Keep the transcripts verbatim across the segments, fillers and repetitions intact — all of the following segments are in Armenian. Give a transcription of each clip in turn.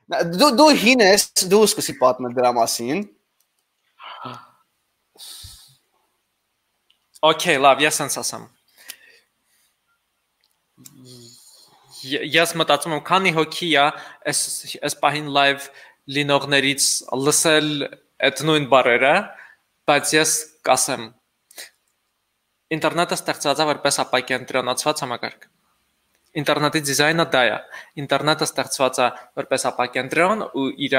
Դու դու հին ես, դու սկսի պատմել դրա մասին։ Okay, լավ, ես sense ասեմ։ Ես մտածում եմ, քանի հոգի է այս այս պահին live լինողներից լսել այդ նույն բառերը, բայց ես կասեմ ինտերնետը ստեղծված է որպես ապակենտրոնացված համակարգ։ Ինտերնետի դիզայնը դա է։ Ինտերնետը ստեղծված է որպես ապակենտրոն ու իր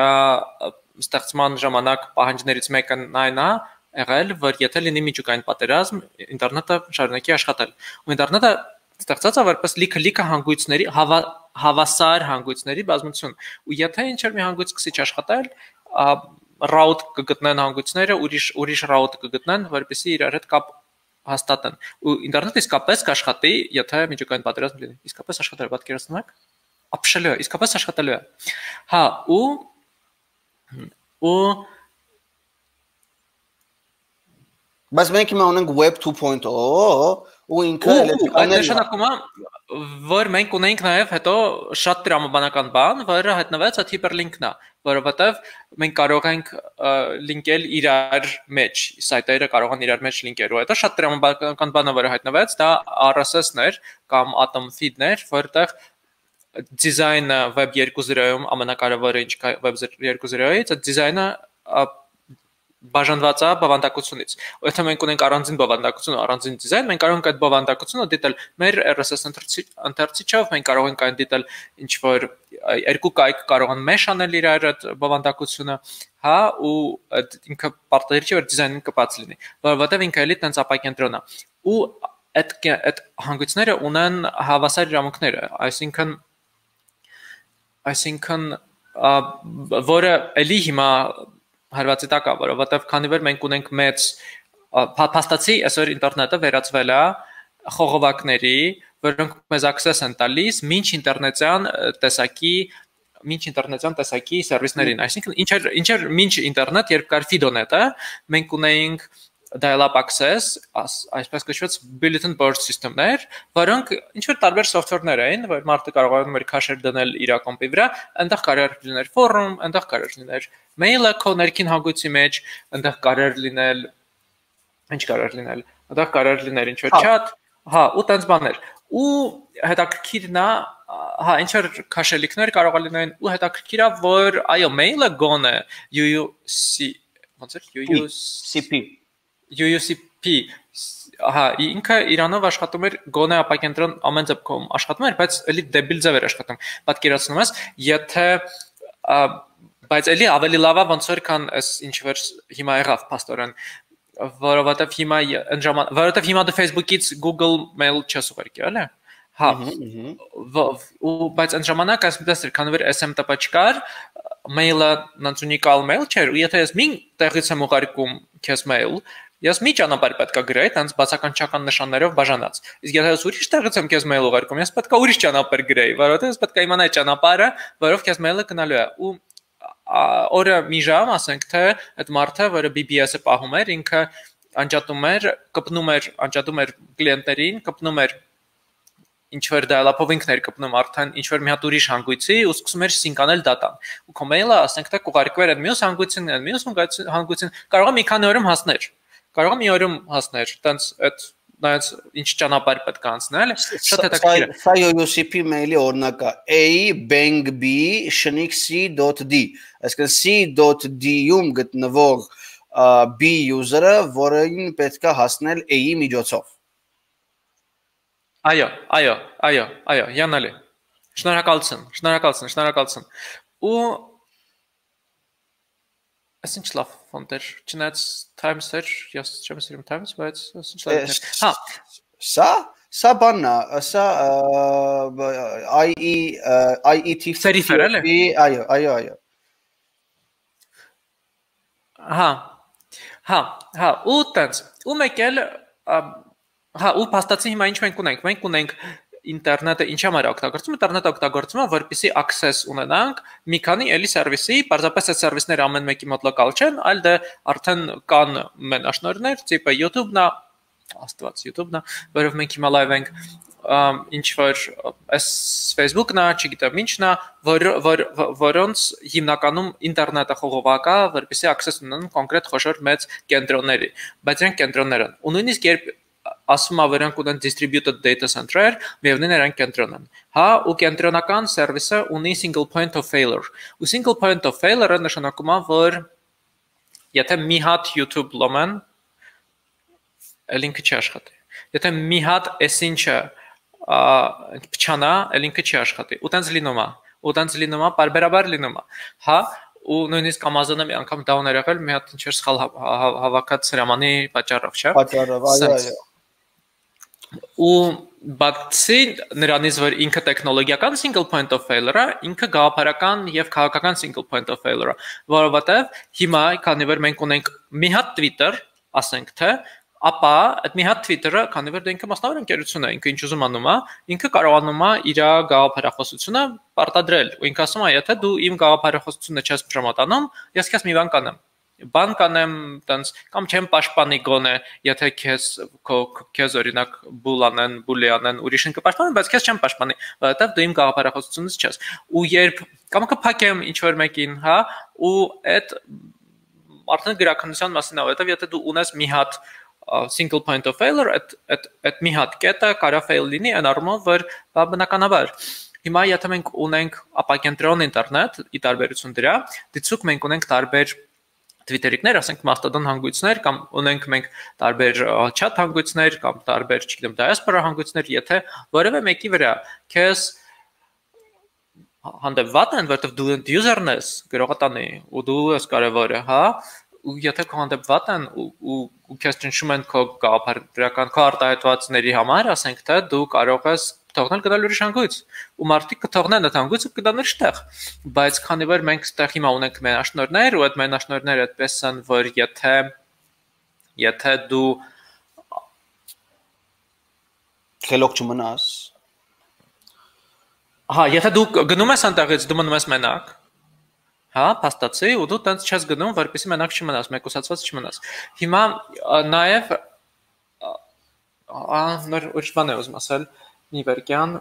ստեղծման ժամանակ պահանջներից մեկը այն է եղել, որ եթե լինի միջուկային պատերազմ, ինտերնետը շարունակի աշխատել։ Ու ինտերնետը ստեղծած է որպես լիքը-լիքը հանգույցների, հավասար հանգույցների բազմություն։ Ու եթե ինչ-որ մի հանգույց սկսի աշխատել, route կգտնեն հանգույցները, ուրիշ ուրիշ route կգտնեն, որպեսզի իրար հետ կապ հաստատեն։ Ու ինտերնետը իսկապես կաշխատի, եթե միջուկային պատերազմ լինի։ Իսկապես աշխատել է, պատկերացնում եք։ Ապշելու է, իսկապես աշխատելու է։ Հա, ու ու Բայց մենք հիմա ունենք web two point zero ու ինքը այդ նշանակում է, որ մենք ունենք նաև հետո շատ տրամաբանական բան, որը հայտնվեց այդ hyperlink-ն է, որովհետև մենք կարող ենք լինկել իրար մեջ, սայթերը կարող են իրար մեջ լինկել, ու հետո շատ տրամաբանական բանը, որը հայտնվեց, դա R S S-ներ կամ atom feed-ներ, որտեղ դիզայնը web two point zero-ում ամենակարևորը ինչ կա web two point zero-ից, այդ դիզայնը բաժանված է բովանդակությունից։ Եթե մենք ունենք առանձին բովանդակություն ու առանձին դիզայն, մենք կարող ենք այդ բովանդակությունը դիտել մեր R S S ընթերցիչով, մենք կարող ենք այն դիտել ինչ որ երկու կայք կարող են mesh անել իրար այդ բովանդակությունը, հա, ու ինքը պարտադիր չէ որ դիզայնը կպած լինի, որովհետև ինքը էլի տենց ապակենտրոն է։ Ու այդ այդ հանգույցները ունեն հավասար իրավունքներ, այսինքն այսինքն որը էլի հիմա հարվածի տակ է, որովհետև քանի որ մենք ունենք մեծ փաստացի այսօր ինտերնետը վերածվել է խողովակների, որոնք մեզ access են տալիս մինչ ինտերնետյան տեսակի մինչ ինտերնետյան տեսակի սերվիսներին, այսինքն ինչ ինչ մինչ ինտերնետ, երբ կար Fidonet-ը, մենք ունեինք dial-up access, այսպես կոչված bulletin board system-ներ, որոնք ինչ որ տարբեր software-ներ էին, որ մարդը կարող էր քաշեր դնել իր կոմպի վրա, այնտեղ կարող էր լինել forum, այնտեղ կարող էր լինել mail-ը քո ներքին հանգույցի մեջ, այնտեղ կարող լինել ինչ կարող լինել, այնտեղ կարող լինել ինչ որ chat, հա, ու տենց բաներ։ Ու հետաքրքիրն է, հա, ինչ որ քաշելիքներ կարող լինեն, ու հետաքրքիր է, որ այո, mail-ը գոնե U U C, ոնց է U U C P U U C P, հա, ինքը Իրանով աշխատում էր գոնե ապակենտրոն ամեն դեպքում աշխատում էր, բայց էլի դեբիլ ձև էր աշխատում։ Պատկերացնում ես, եթե բայց էլի ավելի լավ է ոնց որ քան այս ինչ որ հիմա եղավ փաստորեն, որովհետև հիմա այն ժամանակ, որովհետև հիմա դու Facebook-ից Google Mail չես ուղարկի, էլի։ Հա։ Ու բայց այն ժամանակ այսպես էր, քանի որ S M T P չկար, mail-ը նույնիսկ ունիկալ mail չէր, ու եթե ես մի տեղից եմ ուղարկում քեզ mail, ես մի ճանապարհ պետք է գրեի, տենց բացականչական նշաններով բաժանած։ Իսկ եթե ես ուրիշ տեղից եմ քեզ mail ուղարկում, ես պետք է ուրիշ ճանապարհ գրեի, որովհետև ես պետք է իմանայի ճանապարհը, որով քեզ mail-ը գնալու է։ Ու օրը մի ժամ, ասենք թե այդ մարդը, որը B B S-ը պահում էր, ինքը անջատում էր, կպնում էր, անջատում էր կլիենտներին, կպնում էր ինչ որ dial-up-ով ինքն էր կպնում արդեն ինչ որ մի հատ ուրիշ հանգույցի ու սկսում էր սինկանել դատան։ Ու քո mail-ը, ասենք թե կուղարկվեր այդ մյուս հանգույցին, այդ մյուս հանգույցին, կարող է մի քանի օրում հասներ։ Կարող է մի օրում հասներ, տենց այդ նայած ինչ ճանապարհ պետք է անցնել, շատ հետաքրքիր է։ Սա U U C P mail-ի օրինակը A bang B շնիկ C.D, այսինքն C.D-ում գտնվող B user-ը, որին պետք է հասնել A-ի միջոցով։ Այո, այո, այո, այո, յանալի։ Շնորհակալություն, շնորհակալություն, շնորհակալություն։ Ու Այսինչ լավ ֆոնտեր, չնայած Times-եր, ես չեմ սիրում Times, բայց այսինչ լավ։ Հա, սա, սա բանն է, սա I E I E T Serif-եր էլի։ Այո, այո, այո։ Հա։ Հա, հա, ու տենց, ու մեկ էլ հա, ու փաստացի հիմա ինչ մենք ունենք, մենք ունենք ինտերնետը ինչ համար է օգտագործում, ինտերնետը օգտագործում է, որպեսզի access ունենանք մի քանի էլի սերվիսի, պարզապես այդ սերվիսները ամեն մեկի մոտ լոկալ չեն, այլ դե արդեն կան մենաշնորհներ, տիպը YouTube-ն է, աստված YouTube-ն է, որով մենք հիմա live ենք, ինչ որ այս Facebook-ն է, չգիտեմ ինչն է, որ որոնց հիմնականում ինտերնետը խողովակա, որպեսզի access ունենան կոնկրետ խոշոր մեծ կենտրոնների, բայց իրենք կենտրոններ են։ Ու նույնիսկ երբ ասում ա վրանք ունեն distributed data center-եր, միևնույն նրանք կենտրոն են։ Հա, ու կենտրոնական սերվիսը ունի single point of failure։ Ու single point of failure-ը նշանակում է, որ եթե մի հատ YouTube լոմեն, ելինքը չի աշխատի։ Եթե մի հատ էսինչը փչանա, ելինքը չի աշխատի։ Ու տենց լինում է։ Ու տենց լինում է, բարբերաբար լինում է։ Հա, ու նույնիսկ Amazon-ը մի անգամ down էր եղել, մի հատ ինչ-որ սխալ հավաքած հրամանի պատճառով, չէ՞։ Պատճառով, այո, այո։ Ու բացի նրանից, որ ինքը տեխնոլոգիական single point of failure-ը, ինքը գաղափարական եւ քաղաքական single point of failure-ը, որովհետեւ հիմա, քանի որ մենք ունենք մի հատ Twitter, ասենք թե, ապա այդ մի հատ Twitter-ը, քանի որ դա ինքը մասնավոր ընկերություն է, ինքը ինչ ուզում անում է, ինքը կարողանում է իր գաղափարախոսությունը պարտադրել։ Ու ինքը ասում է, եթե դու իմ գաղափարախոսությունը չես պրոմոտանում, ես քեզ մի բան կանեմ։ Բան կանեմ, տենց կամ չեմ պաշտպանի գոնե, եթե քեզ քեզ օրինակ բուլանեն, բուլիանեն, ուրիշին կպաշտպանեն, բայց քեզ չեմ պաշտպանի, որովհետև դու իմ գաղափարախոսությունից չես։ Ու երբ կամ կփակեմ ինչ որ մեկին, հա, ու այդ արդեն գրականության մասին է, որովհետև եթե դու ունես մի հատ single point of failure, այդ այդ այդ մի հատ կետը կարա fail լինի, այն առումով, որ բնականաբար հիմա եթե մենք ունենք ապակենտրոն ինտերնետ, ի տարբերություն դրա, դիցուկ մենք ունենք տարբեր Twitter-իկներ, ասենք Mastodon հանգույցներ կամ ունենք մենք տարբեր chat հանգույցներ կամ տարբեր, չգիտեմ, diaspora հանգույցներ, եթե որևէ մեկի վրա քեզ հանդեպված են, որովհետև դու user-ն ես, գրողատանի, ու դու ես կարևորը, հա, ու եթե քո հանդեպված են ու ու քեզ ճնշում են քո գաղափարական քո արտահայտվածների համար, ասենք թե դու կարող ես թողնել գնալ ուրիշ հանգույց ու մարդիկ կթողնեն այդ հանգույցը կգնան ուրիշ տեղ, բայց քանի որ մենք այդտեղ հիմա ունենք մենաշնորհներ ու այդ մենաշնորհները այդպես են, որ եթե եթե դու խելոք չմնաս, հա, եթե դու գնում ես այնտեղից, դու մնում ես մենակ, հա, փաստացի, ու դու տենց չես գնում, որպեսզի մենակ չմնաս, մեկուսացված չմնաս։ Հիմա նաև նոր ուրիշ բան եմ ուզում ասել, մի վերկյան,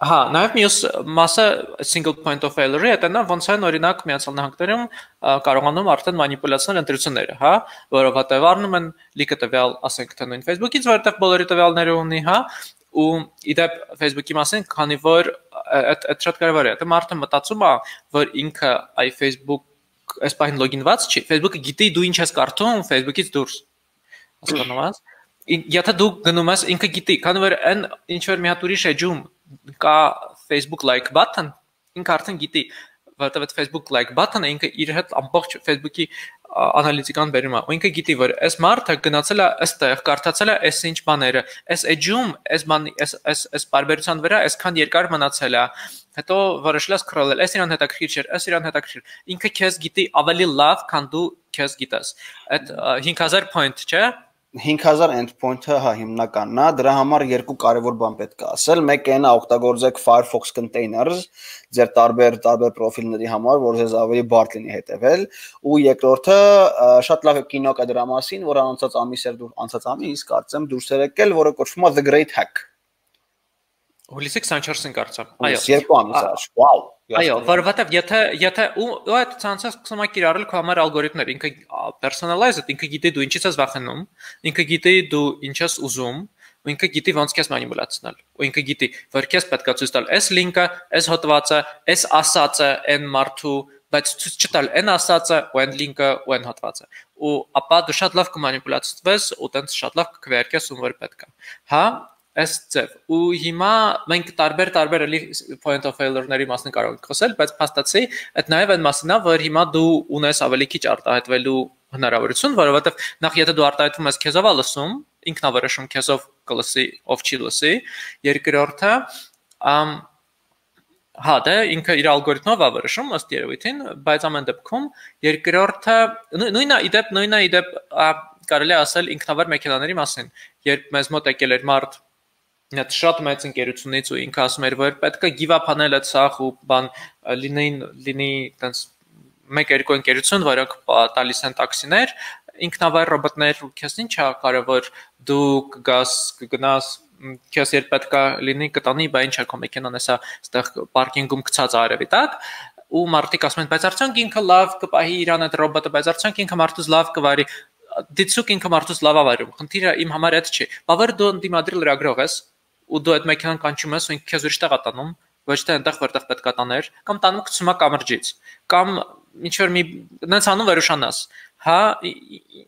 հա, նաև մյուս մասը single point of failure-ի հետ նա ոնց են օրինակ Միացյալ Նահանգներում կարողանում արդեն մանիպուլյացնել ընտրությունները, հա, որովհետև առնում են լիքը տվյալ, ասենք թե նույն Facebook-ից, որովհետև բոլորի տվյալները ունի, հա, ու իդեպ Facebook-ի մասին, քանի որ այդ այդ շատ կարևոր է, դա մարդը մտածում է, որ ինքը այ Facebook այս պահին լոգինված չի, Facebook-ը գիտի դու ինչ ես կարդում Facebook-ից դուրս։ Հասկանում ես։ Եթե դու գնում ես, ինքը գիտի, քանի որ այն ինչ որ մի հատ ուրիշ էջում կա Facebook like button, ինքը արդեն գիտի, որովհետև այդ Facebook like button-ը ինքը իր հետ ամբողջ Facebook-ի անալիտիկան բերում է, ու ինքը գիտի, որ այս մարդը գնացել է այստեղ, կարդացել է այս ինչ բաները, այս էջում, այս բան, այս այս այս բարբերության վրա այսքան երկար մնացել է, հետո որոշել է scroll-ել, այս իրան հետաքրքիր չէր, այս իրան հետաքրքիր, ինքը քեզ գիտի ավելի լավ, քան դու քեզ գիտես, այդ հինգ հազար point, չէ՞։ հինգ հազար endpoint-ը հա հիմնականն է, դրա համար երկու կարևոր բան պետք է ասել, մեկը այն է օգտագործեք Firefox containers ձեր տարբեր տարբեր պրոֆիլների համար, որ ձեզ ավելի բարդ լինի հետևել, ու երկրորդը շատ լավ կինո կա դրա մասին, որ անցած ամիս էր դուր անցած ամիս, կարծեմ դուրս էր եկել, որը կոչվում է The Great Hack։ Հուլիսի քսանչորսին կարծեմ։ Այո, երկու ամիս առաջ։ Վաու։ Այո, որովհետև եթե եթե ու այդ ցանցած սկսում է կիրառել քո համար ալգորիթմներ, ինքը personalized, ինքը գիտի դու ինչից ես վախենում, ինքը գիտի դու ինչ ես ուզում, ու ինքը գիտի ոնց քեզ մանիպուլացնել, ու ինքը գիտի, որ քեզ պետք է ցույց տալ այս լինկը, այս հոդվածը, այս ասածը, այն մարդու, բայց ցույց չտալ այն ասածը, ու այն լինկը, ու այն հոդվածը։ Ու ապա դու շատ լավ կմանիպուլացվես, ու տենց շատ լավ կքվեարկես ում որ պետք է։ Հա, այս ձև ու հիմա մենք տարբեր տարբեր էլի point of failure-ների մասին կարող ենք խոսել, բայց փաստացի այդ նաև այն մասն է, որ հիմա դու ունես ավելի քիչ արտահայտվելու հնարավորություն, որովհետև նախ եթե դու արտահայտվում ես քեզով ա լսում, ինքնավերոշում քեզով կլսի, ով չի լսի, երկրորդը ամ հա դա ինքը իր ալգորիթմով ա վերոշում ըստ երևույթին, բայց ամեն դեպքում երկրորդը նույնը իդեպ նույնը իդեպ կարելի է ասել ինքնավար մեքենաների մասին, երբ մեզ մոտ եկել էր մարդ Այդ շատ մեծ ընկերությունից ու ինքը ասում էր, որ պետք է give-up անել այդ սախ ու բան լինեին լինի տենց մեկ-երկու ընկերություն, որոնք տալիս են տաքսիներ, ինքնավար ռոբոտներ ու քեզ ինչ է կարևոր դու կգաս կգնաս քեզ երբ պետք է լինի կտանի, բա ինչ է քո մեքենան էսա այդտեղ պարկինգում գցած արևի տակ ու մարդիկ ասում են բայց արդյոք ինքը լավ կպահի իրան այդ ռոբոտը, բայց արդյոք ինքը մարդուց լավ կվարի, դիցուկ ինքը մարդուց լավ է վարում, խնդիրը իմ համար այդ չի, բավարար դու դիմադրի լրագրող ես ու դու այդ մեքենան կանչում ես ու ինքը քեզ ուրիշ տեղ է տանում, ոչ թե այնտեղ որտեղ պետք է տաներ, կամ տանում գցում է կամրջից, կամ ինչ որ մի նենց անում վերուշանաս, հա,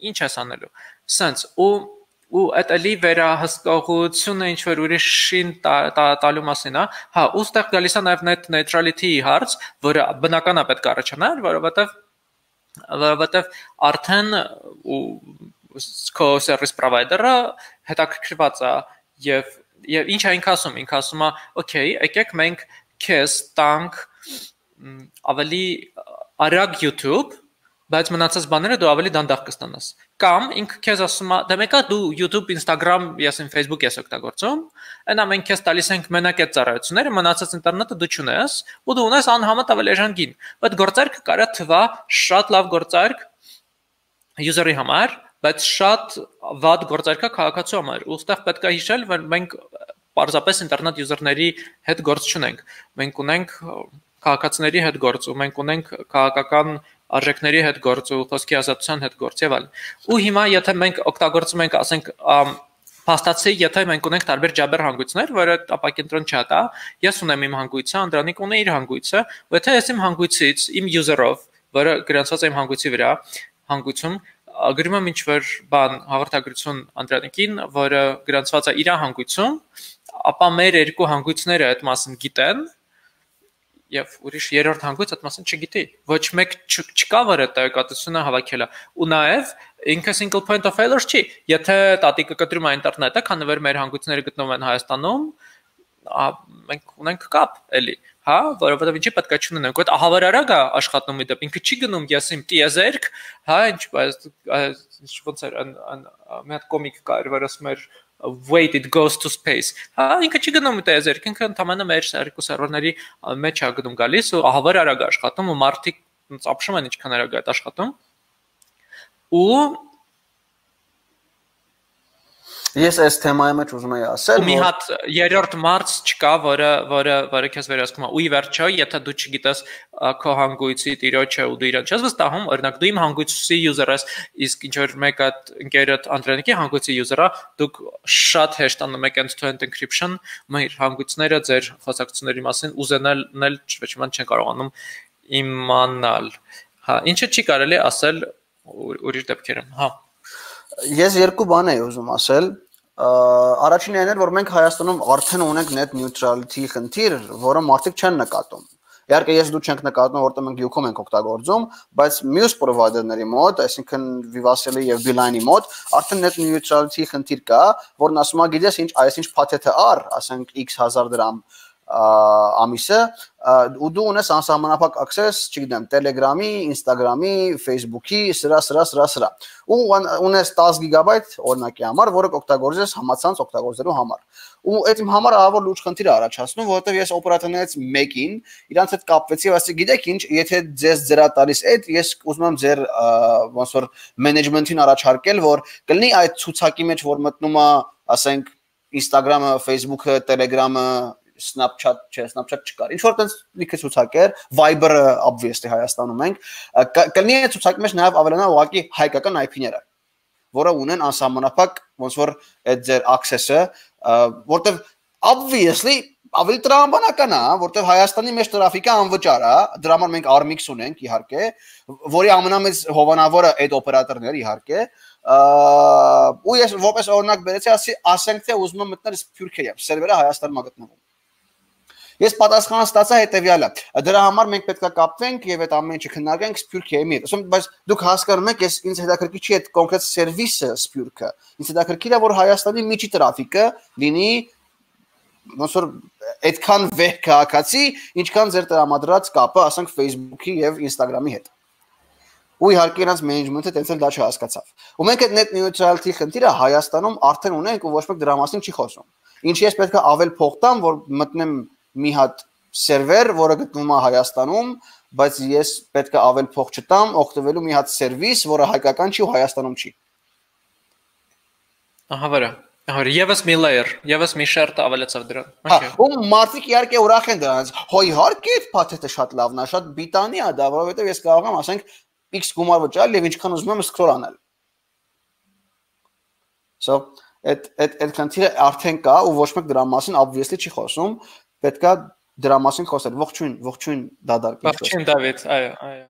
ինչ ես անելու, սենց ու ու այդ էլի վերահսկողությունը ինչ որ ուրիշին տալու մասին է, հա, ու ստեղ գալիս է նաև net neutrality-ի հարց, որը բնական է պետք է առաջանար, որովհետև որովհետև արդեն ու քո service provider-ը հետաքրքրված է եւ եւ ինչ է ինքը ասում, ինքը ասում է, օքեյ, եկեք մենք քեզ տանք ավելի արագ YouTube, բայց մնացած բաները դու ավելի դանդաղ կստանաս։ Կամ ինքը քեզ ասում է, դե մեկա դու YouTube, Instagram, ясен Facebook ես օգտագործում, այնա մենք քեզ տալիս ենք մենակ այդ ծառայությունները, մնացած ինտերնետը դու չունես, ու դու ունես անհամեմատ ավելի էժան գին։ Բայց գործարքը կարա թվա շատ լավ գործարք user-ի համար, բայց շատ վատ գործարքա քաղաքացու համար։ Ուստեղ պետք է հիշել, որ մենք պարզապես ինտերնետ user-ների հետ գործ չունենք։ Մենք ունենք քաղաքացիների հետ գործ, ու մենք ունենք քաղաքական արժեքների հետ գործ ու խոսքի ազատության հետ գործ եւ այլն։ Ու հիմա եթե մենք օգտագործում ենք, ասենք, փաստացի, եթե մենք ունենք տարբեր ջաբեր հանգույցներ, որը ապակենտրոն չա տա, ես ունեմ իմ հանգույցը, Անդրանիկ ունի իր հանգույցը, ու եթե ես իմ հանգույցից, իմ user-ով, որը գրանցված է իմ հանգույցի վրա, հանգույցում գրում եմ ինչ-որ բան հաղորդագրություն Անդրանիկին, որը գրանցված է իր հանգույցում, ապա մեր երկու հանգույցները այդ մասին գիտեն, եւ ուրիշ երրորդ հանգույց այդ մասին չգիտի, ոչ մեկ չկա, որ այդ տեղեկատվությունը հավաքել է, ու նաեւ ինքը single point of failure չի, եթե տատիկը կտրում է ինտերնետը, քանի որ մեր հանգույցները գտնվում են Հայաստանում, մենք ունենք կապ էլի, հա, որովհետեւ ինչի պետք է չունենանք, այդ ահավոր արագ է աշխատում իդեպ, ինքը չի գնում ես իմ տիեզերք, հա, ինչ ինչ ոնց էր մի հատ կոմիկ կար, որ ասում էր wait it goes to space, հա, ինքը չի գնում տիեզերք, ինքը ընդամենը մեր երկու սերվերների մեջ է գնում գալիս ու ահավոր արագ է աշխատում ու մարդիկ ծափշում են ինչքան արագ է աշխատում ու Ես այս թեմայի մեջ ուզում եի ասել, որ մի հատ երրորդ մարդ չկա, որը որը որը քեզ վերահսկում է։ Ու ի վերջո, եթե դու չգիտես քո հանգույցի տիրոջը ու դու իրան չես վստահում, օրինակ դու իմ հանգույցի user ես, իսկ ինչ որ մեկ հատ ընկերդ Անդրանիկի հանգույցի user-ը, դուք շատ հեշտ անում եք end-to-end encryption, մեր հանգույցները ձեր խոսակցությունների մասին ուզենալ ոչ ոք չեն կարողանում իմանալ։ Հա, ինչը չի կարելի ասել ուրիշ դեպքերում, հա։ Ես երկու բան եի ուզում ասել, առաջինն այն էր, որ մենք Հայաստանում արդեն ունենք net neutrality խնդիր, որը մարդիկ չեն նկատում։ Իհարկե ես դու չենք նկատում, որտեղ մենք յուքում ենք օգտագործում, բայց մյուս provider-ների մոտ, այսինքն Vivatel-ի եւ Beeline-ի մոտ արդեն net neutrality խնդիր կա, որն ասում է, գիտես ինչ, այսինչ փաթեթը առ, ասենք X հազար դրամ ամիսը, ու դու ունես անսահմանափակ access, չգիտեմ, Telegram-ի, Instagram-ի, Facebook-ի, սրա, սրա, սրա, սրա։ Ու ունես տասը գիգաբայթ օրինակի համար, որը կօգտագործես համացանց օգտագործելու համար։ Ու այդ իմ համար ահավոր լուրջ խնդիր է առաջացնում, որովհետև ես օպերատորներից մեկին իրանց հետ կապվեցի, ասեցի, գիտեք ինչ, եթե ձեզ ձերա տալիս այդ, ես ուզում եմ ձեր ոնց որ management-ին առաջարկել, որ կլինի այդ ցուցակի մեջ, որ մտնում է, ասենք, Instagram-ը, Facebook-ը, Telegram-ը, Snapchat, չէ, Snapchat չկար։ Ինչ որ տենց լիքը ցուցակեր, Viber-ը obviously Հայաստանում ենք, կլինի այդ ցուցակի մեջ նաև ավելանա ուղղակի հայկական I P-ները, որը ունեն անսահմանափակ ոնց որ այդ ձեր access-ը, որտեվ obviously ավելի տրամաբանական է, որտեվ Հայաստանի մեջ տրաֆիկը անվճար է, դրա համար մենք Armix ունենք իհարկե, որի ամենամեծ հովանավորը այդ օպերատորներ իհարկե, ու ես որպես օրինակ բերեցի, ասենք թե ուզում եմ մտնել Սփյուռքերիա, սերվերը Հայաստանում է գտնվում։ Ես պատասխանը ստացա հետեւյալը։ Դրա համար մենք պետք է կապվենք եւ այդ ամեն ինչը քննարկենք Սփյուռքիայի հետ։ Ասում բայց դուք հասկանում եք, ես ինձ հետաքրքիր չի այդ կոնկրետ սերվիսը Սփյուռքը։ Ինձ հետաքրքիր է որ Հայաստանի միջի տրաֆիկը լինի ոնց որ այդքան վեհ քաղաքացի, ինչքան ձեր տրամադրած կապը, ասենք Facebook-ի եւ Instagram-ի հետ։ Ու իհարկե նրանց management-ը տենց էլ դա չհասկացավ։ Ու մենք այդ net neutrality խնդիրը Հայաստանում արդեն ունենք ու ոչ մեկ դրա մասին չի խոսում։ Ինչի ես պետք է ավել փող տամ, որ մտնեմ մի հատ սերվեր, որը գտնվում է Հայաստանում, բայց ես պետք է ավել փող չտամ, օգտվելու մի հատ սերվիս, որը հայկական չի ու Հայաստանում չի։ Ահա վրա։ Հա, եւս մի layer, եւս մի շերտ ավելացավ դրան։ Հա, ու մարդիկ իհարկե ուրախ են դրանից։ Հո իհարկե այդ փաթեթը շատ լավն է, շատ բիտանի է դա, որովհետեւ ես կարող եմ, ասենք, X գումար վճարել եւ ինչքան ուզում եմ scroll անել։ So, այդ այդ այդ քանթիրը արդեն կա ու ոչ մեկ դրա մասին obviously չի խոսում, պետքա դրա մասին խոսել։ Ողջույն, ողջույն Դադար։ Ողջույն Դավիթ, այո, այո։